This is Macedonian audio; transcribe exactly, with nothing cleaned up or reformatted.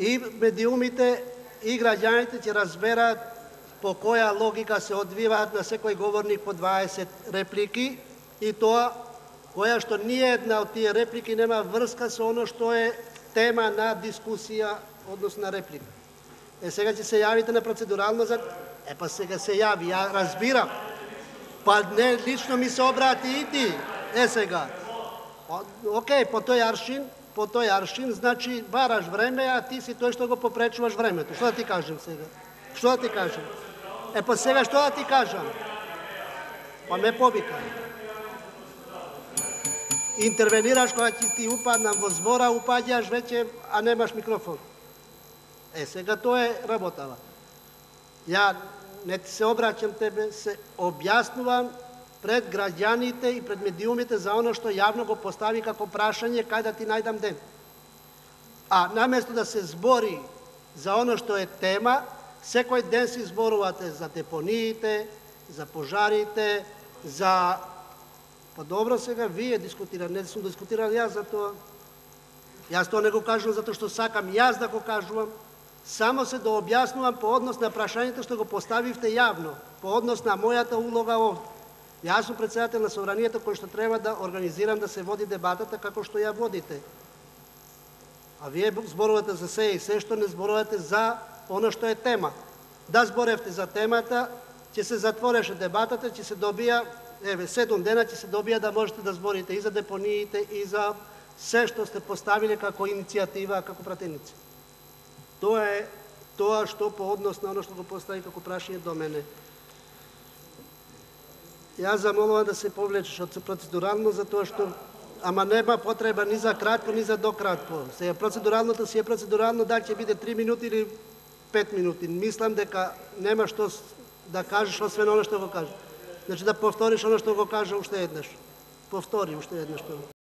и медиумите и граѓаните ќе разберат по која логика се одвиваат на секој говорник по дваесет реплики и тоа која што ниедна од тие реплики нема врска со оно што е тема на дискусија, односно на реплика. Е, сега ќе се јавите на процедурално за... Е, па сега се јави, ја разбирам. Па не, лично ми се обрати и ти. Е, сега. Океј, по тој аршин, по тој аршин, значи бараш време, а ти си тој што го попречуваш времето. Што да ти кажем сега? Што да ти кажем? Е, па сега што да ти кажам? Па ме повикај. Интервенираш кога ќе ти упаднам во збора, упаѓаш веќе, а немаш микрофон. Е, сега тоа е работава. Ја не ти се обраќам тебе, се објаснувам пред граѓаните и пред медиумите за оно што јавно го постави како прашање кај да ти најдам ден. А наместо да се збори за оно што е тема, секој ден се зборувате за депониите, за пожарите, за... Па добро, сега вие дискутирате, не сум дискутирал јас за тоа. Јас тоа не го кажувам затоа што сакам јас да го кажувам, само се да објаснувам по однос на прашањето што го поставивте јавно, по однос на мојата улога овде. Јас сум председател на собранието кој што треба да организирам да се води дебатата како што ја водите. А вие зборувате за се и се што не зборувате за оно што е тема. Да зборевте за темата, ќе се затвореше дебатата, ќе се добија, еве, седум дена ќе се добија да можете да зборите и за депониите, и за се што сте поставиле како иницијатива, како пратеници. Тоа е тоа што по однос на оно што го постави како прашање до мене. Јас замолувам да се повлечеш од процедурално, затоа што ама нема потреба ни за кратко, ни за дократко. Сега процедуралното си е процедурално, дали ќе биде три минути или пет минути. Мислам дека нема што да кажеш освен оно што го кажеш. Значи да повториш оно што го кажа уште еднаш. Повтори уште еднаш тоа.